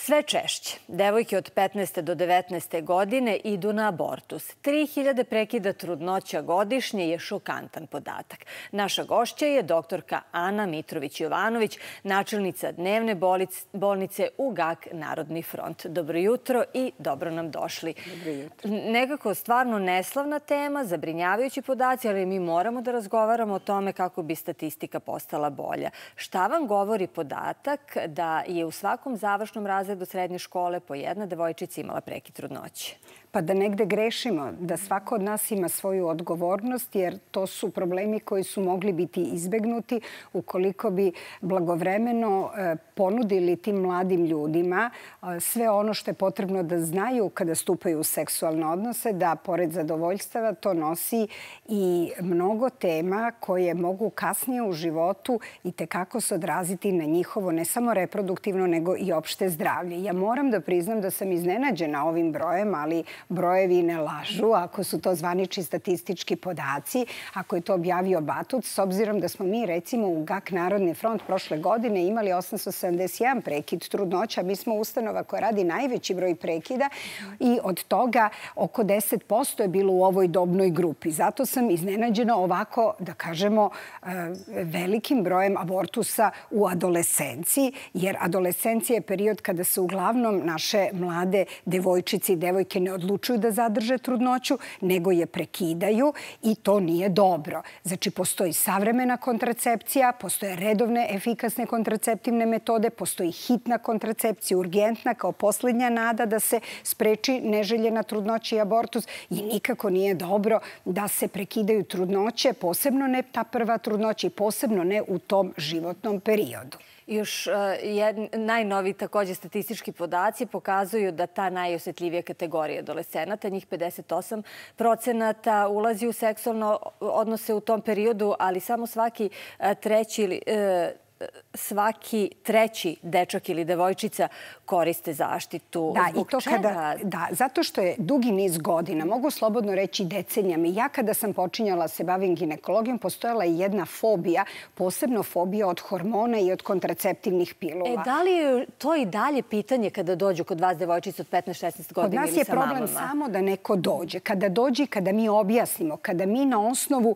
Sve češće devojke od 15. do 19. godine idu na abortus. 3000 prekida trudnoća godišnje je šokantan podatak. Naša gošća je doktorka Ana Mitrović-Jovanović, načelnica dnevne bolnice u GAK Narodni front. Dobro jutro i dobro nam došli. Dobro jutro. Nekako stvarno neslavna tema, zabrinjavajući podaci, ali mi moramo da razgovaramo o tome kako bi statistika postala bolja. Šta vam govori podatak da je u svakom završnom razredu srednje škole po jedna devojčica imala prekid trudnoće? Pa da negde grešimo, da svako od nas ima svoju odgovornost, jer to su problemi koji su mogli biti izbegnuti ukoliko bi blagovremeno ponudili tim mladim ljudima sve ono što je potrebno da znaju kada stupaju u seksualne odnose, da pored zadovoljstava to nosi i mnogo tema koje mogu kasnije u životu i tekako se odraziti na njihovo ne samo reproduktivno nego i opšte zdravlje. Ja moram da priznam da sam iznenađena ovim brojem, ali brojevi ne lažu, ako su to zvanični statistički podaci, ako je to objavio Batut, s obzirom da smo mi recimo u GAK Narodni front prošle godine imali 871 prekid trudnoća. Mi smo ustanova koja radi najveći broj prekida i od toga oko 10% je bilo u ovoj dobnoj grupi. Zato sam iznenađena ovako, da kažemo, velikim brojem abortusa u adolescenciji, jer adolescencija je period kada se uglavnom naše mlade devojčice i devojke ne odlučuju da zadrže trudnoću, nego je prekidaju i to nije dobro. Znači, postoji savremena kontracepcija, postoje redovne efikasne kontraceptivne metode, postoji hitna kontracepcija, urgentna kao posljednja nada da se spreči neželjena trudnoća i abortus i nikako nije dobro da se prekidaju trudnoće, posebno ne ta prva trudnoća i posebno ne u tom životnom periodu. Još najnoviji također statistički podaci pokazuju da ta najosjetljivija kategorija adolescenata, njih 58% ulazi u seksualne odnose u tom periodu, ali samo svaki treći dečak ili devojčica koriste zaštitu. Zbog čega? Da, zato što je dugi niz godina, mogu slobodno reći decenijama. Ja kada sam počinjala se bavim ginekologijom, postojala je jedna fobija, posebno fobija od hormona i od kontraceptivnih pilula. Da li je to i dalje pitanje kada dođu kod vas devojčice od 15-16 godina ili sa mamama? Kod nas je problem samo da neko dođe. Kada dođe i kada mi objasnimo, kada mi na osnovu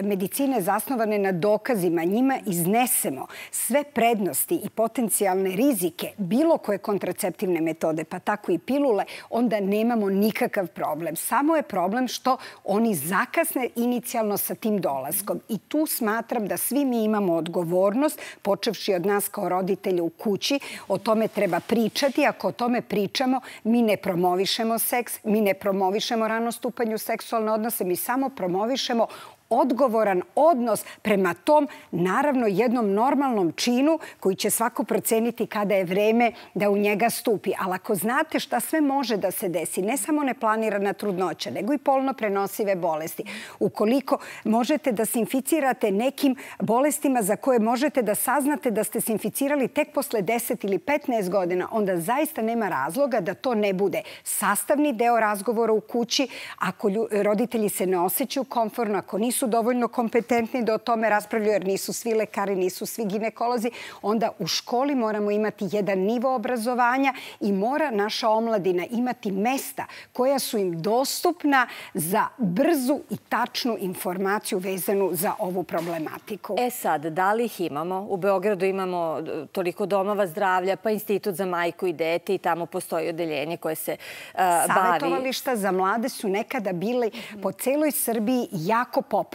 medicine zasnovane na dokazima njima iznesemo sve prednosti i potencijalne rizike bilo koje kontraceptivne metode, pa tako i pilule, onda nemamo nikakav problem. Samo je problem što oni zakasne inicijalno sa tim dolaskom. I tu smatram da svi mi imamo odgovornost, počevši od nas kao roditelja u kući, o tome treba pričati. Ako o tome pričamo, mi ne promovišemo seks, mi ne promovišemo rano stupanje u seksualne odnose, mi samo promovišemo odgovoran odnos prema tom, naravno, jednom normalnom činu koji će svako proceniti kada je vreme da u njega stupi. Ali ako znate šta sve može da se desi, ne samo neplanirana trudnoća, nego i polno prenosive bolesti, ukoliko možete da se inficirate nekim bolestima za koje možete da saznate da ste se inficirali tek posle 10 ili 15 godina, onda zaista nema razloga da to ne bude sastavni deo razgovora u kući. Ako roditelji se ne osjećaju komfortno, ako nisu dovoljno kompetentni da o tome raspravljaju, jer nisu svi lekari, nisu svi ginekolozi, onda u školi moramo imati jedan nivo obrazovanja i mora naša omladina imati mesta koja su im dostupna za brzu i tačnu informaciju vezanu za ovu problematiku. Sad, da li ih imamo? U Beogradu imamo toliko domova zdravlja, pa Institut za majku i dete i tamo postoji odeljenje koje se bavi. Savetovališta za mlade su nekada bile po celoj Srbiji jako popularne.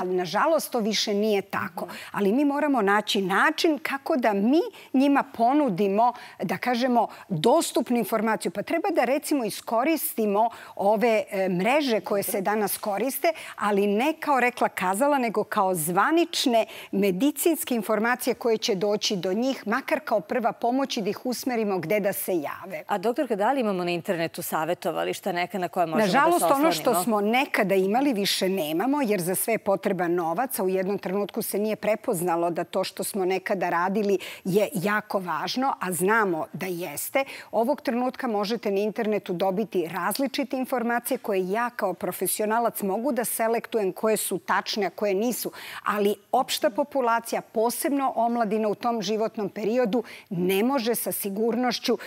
Ali nažalost to više nije tako. Ali mi moramo naći način kako da mi njima ponudimo, da kažemo, dostupnu informaciju. Pa treba da recimo iskoristimo ove mreže koje se danas koriste, ali ne kao rekla kazala, nego kao zvanične medicinske informacije koje će doći do njih, makar kao prva pomoć i da ih usmerimo gde da se jave. A doktorka, da li imamo na internetu savetovališta neka na koje možemo da se oslonimo? Nažalost, ono što oslonimo? smo nekada imali više nemamo. jer za sve je potreban novac, a u jednom trenutku se nije prepoznalo da to što smo nekada radili je jako važno, a znamo da jeste. Ovog trenutka možete na internetu dobiti različite informacije koje ja kao profesionalac mogu da selektujem koje su tačne, a koje nisu. Ali opšta populacija, posebno omladina u tom životnom periodu, ne može sa sigurnošću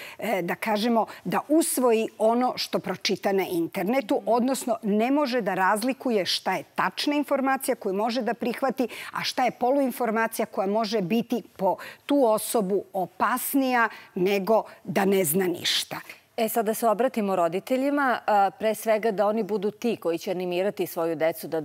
da kažemo da usvoji ono što pročita na internetu, odnosno ne može da razlikuje šta je tačna informacija koju može da prihvati, a šta je poluinformacija koja može biti po tu osobu opasnija nego da ne zna ništa. Sad da se obratimo roditeljima, pre svega da oni budu ti koji će animirati svoju decu da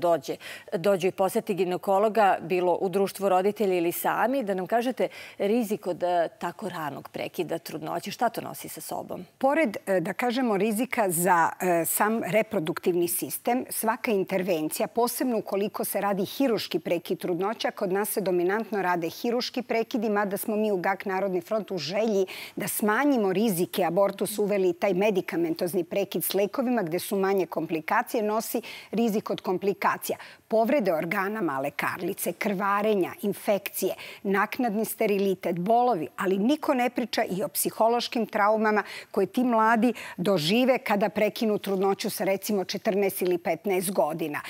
dođu i poseti ginekologa, bilo u društvu roditelja ili sami, da nam kažete rizik od tako ranog prekida trudnoće. Šta to nosi sa sobom? Pored, da kažemo, rizika za sam reproduktivni sistem, svaka intervencija, posebno ukoliko se radi hiruški prekid trudnoća, kod nas se dominantno rade hiruški prekidi, mada smo mi u GAK Narodni front u želji da smanjimo rizike abortusa uveli taj medikamentozni prekid s lekovima gde su manje komplikacije, nosi rizik od komplikacija. Povrede organa male karlice, krvarenja, infekcije, naknadni sterilitet, bolovi, ali niko ne priča i o psihološkim traumama koje ti mladi dožive kada prekinu trudnoću sa recimo 14 ili 15 godina.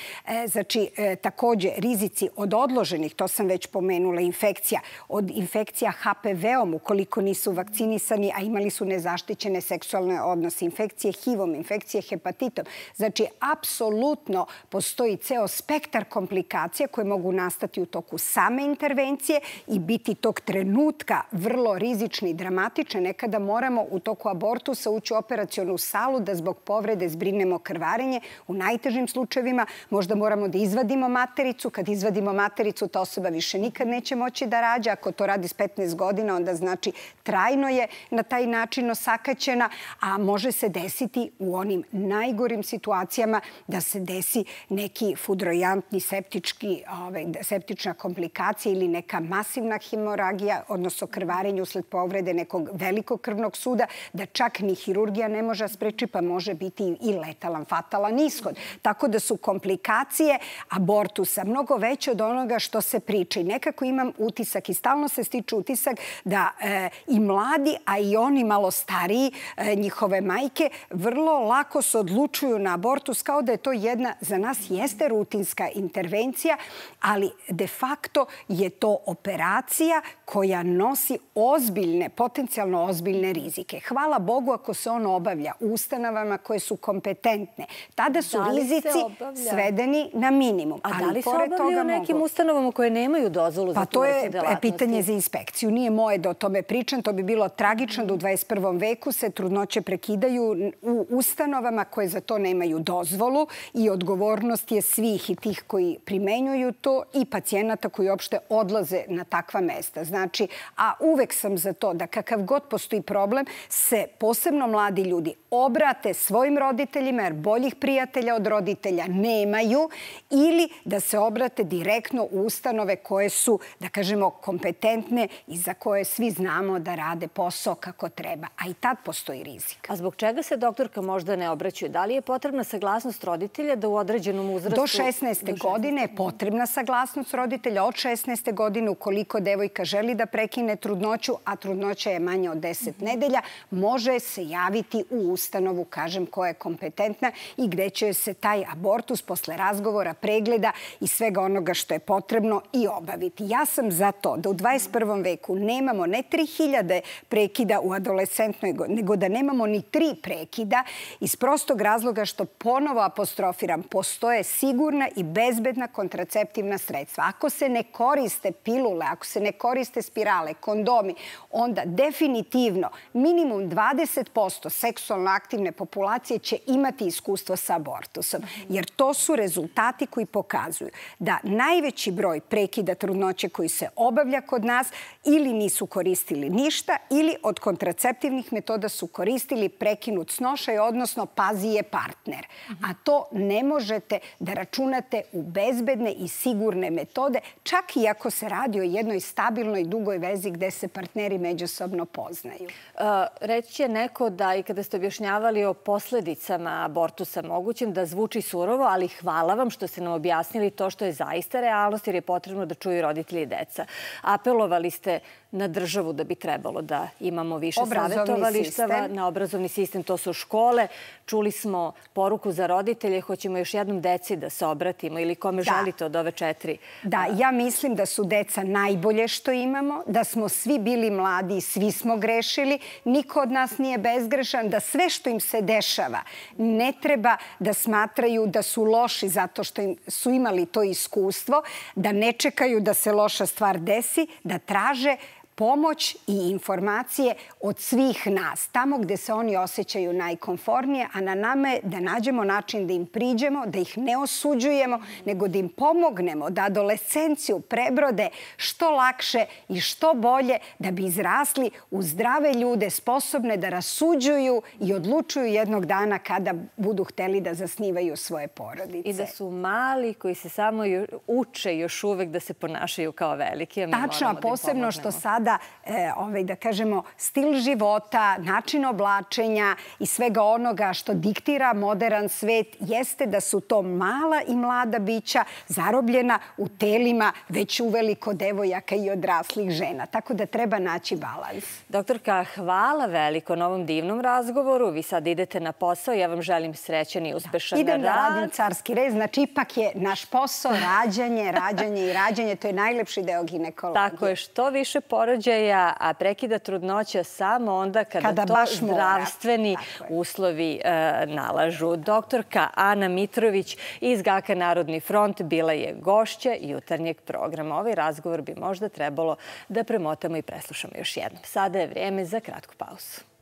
Znači, takođe, rizici od odloženih, to sam već pomenula, infekcija, od infekcija HPV-om ukoliko nisu vakcinisani, a imali su nezaštićene seksualne odnose, infekcije HIV-om, infekcije hepatitom. Znači, apsolutno postoji ceo spektar komplikacija koje mogu nastati u toku same intervencije i biti tog trenutka vrlo rizični i dramatične. Nekada moramo u toku abortusa ući u operacionu salu da zbog povrede zbrinemo krvarenje. U najtežim slučajevima možda moramo da izvadimo matericu. Kad izvadimo matericu, ta osoba više nikad neće moći da rađa. Ako to radi s 15 godina, onda znači trajno je na taj način osakaćena, a može se desiti u onim najgorim situacijama da se desi neki fudrojantni septična komplikacija ili neka masivna hemoragija, odnosno krvarenje usled povrede nekog velikog krvnog suda, da čak ni hirurgija ne može spreči, pa može biti i letalan, fatalan ishod. Tako da su komplikacije abortusa mnogo veće od onoga što se priča. I nekako imam utisak i stalno se stiče utisak da i mladi, a i oni malo stariji, njihove majke, vrlo lako se odlučuju na abortus kao da je to jedna, za nas jeste rutinska intervencija, ali de facto je to operacija koja nosi ozbiljne, potencijalno ozbiljne rizike. Hvala Bogu ako se on obavlja u ustanovama koje su kompetentne. Tada su rizici svedeni na minimum. A da li se obavlja u nekim ustanovama koje nemaju dozvolu za tu vrstu delatnosti? Pa to je pitanje za inspekciju. Nije moje da o tome pričam. To bi bilo tragično da u 21. veku se trudnoće prekidaju u ustanovama koje za to nemaju dozvolu i odgovornost je svih i tih koji primenjuju to i pacijenata koji uopšte odlaze na takva mesta. Znači, a uvek sam za to da kakav god postoji problem se posebno mladi ljudi obrate svojim roditeljima jer boljih prijatelja od roditelja nemaju ili da se obrate direktno u ustanove koje su, da kažemo, kompetentne i za koje svi znamo da rade posao kako treba. A i tad postoji rizik. A zbog čega se doktorka možda ne obraćaju? Da li je potrebna saglasnost roditelja da u određenom uzrastu... Do 16. godine je potrebna saglasnost roditelja. Od 16. godine, ukoliko devojka želi da prekine trudnoću, a trudnoća je manja od 10 nedelja, može se javiti u ustanovu, kažem, koja je kompetentna i gde će se taj abortus posle razgovora, pregleda i svega onoga što je potrebno i obaviti. Ja sam za to da u 21. veku nemamo ne 3000 prekida u adolescentnoj godini, nego da nemamo ni 3 prekida iz prostog razloga što ponovo apostrofiram, postoje sigurna i bezbedna kontraceptivna sredstva. Ako se ne koriste pilule, ako se ne koriste spirale, kondomi, onda definitivno minimum 20% seksualno aktivne populacije će imati iskustvo sa abortusom. Jer to su rezultati koji pokazuju da najveći broj prekida trudnoće koji se obavlja kod nas ili nisu koristili ništa ili od kontraceptivnih metoda su koristili koristili prekinut snošaj, odnosno pazi je partner. A to ne možete da računate u bezbedne i sigurne metode, čak i ako se radi o jednoj stabilnoj dugoj vezi gde se partneri međusobno poznaju. Reći će neko da i kada ste objašnjavali o posledicama abortusa mogućim, da zvuči surovo, ali hvala vam što ste nam objasnili to što je zaista realnost, jer je potrebno da čuju roditelji i deca. Apelovali ste na državu da bi trebalo da imamo više savjetovalištava, na obrazovni sistem, to su škole. Čuli smo poruku za roditelje, hoćemo još jednom deci da se obratimo ili kome želite od ove 4. Da, ja mislim da su deca najbolje što imamo, da smo svi bili mladi i svi smo grešili, niko od nas nije bezgrešan, da sve što im se dešava ne treba da smatraju da su loši zato što su imali to iskustvo, da ne čekaju da se loša stvar desi, da traže pomoć i informacije od svih nas, tamo gde se oni osjećaju najkomfornije, a na nama je da nađemo način da im priđemo, da ih ne osuđujemo, nego da im pomognemo da adolescenciju prebrode što lakše i što bolje, da bi izrasli u zdrave ljude, sposobne da rasuđuju i odlučuju jednog dana kada budu hteli da zasnivaju svoje porodice. I da su mali koji se samo uče još uvek da se ponašaju kao veliki. Tačno, a posebno što sada da kažemo, stil života, način oblačenja i svega onoga što diktira modern svet jeste da su to mala i mlada bića zarobljena u telima već uveliko devojaka i odraslih žena. Tako da treba naći balans. Doktorka, hvala veliko na ovom divnom razgovoru. Vi sad idete na posao. Ja vam želim srećan i uspešan rad. Idem da radim carski rez. Znači, ipak je naš posao rađanje, rađanje i rađanje. To je najlepši deo ginekologije. Tako je, što više porođaja, a prekida trudnoća samo onda kada to zdravstveni uslovi nalažu. Doktorka Ana Mitrović iz GAK-a Narodni front bila je gošća jutarnjeg programa. Ovaj razgovor bi možda trebalo da premotamo i preslušamo još jednom. Sada je vrijeme za kratku pauzu.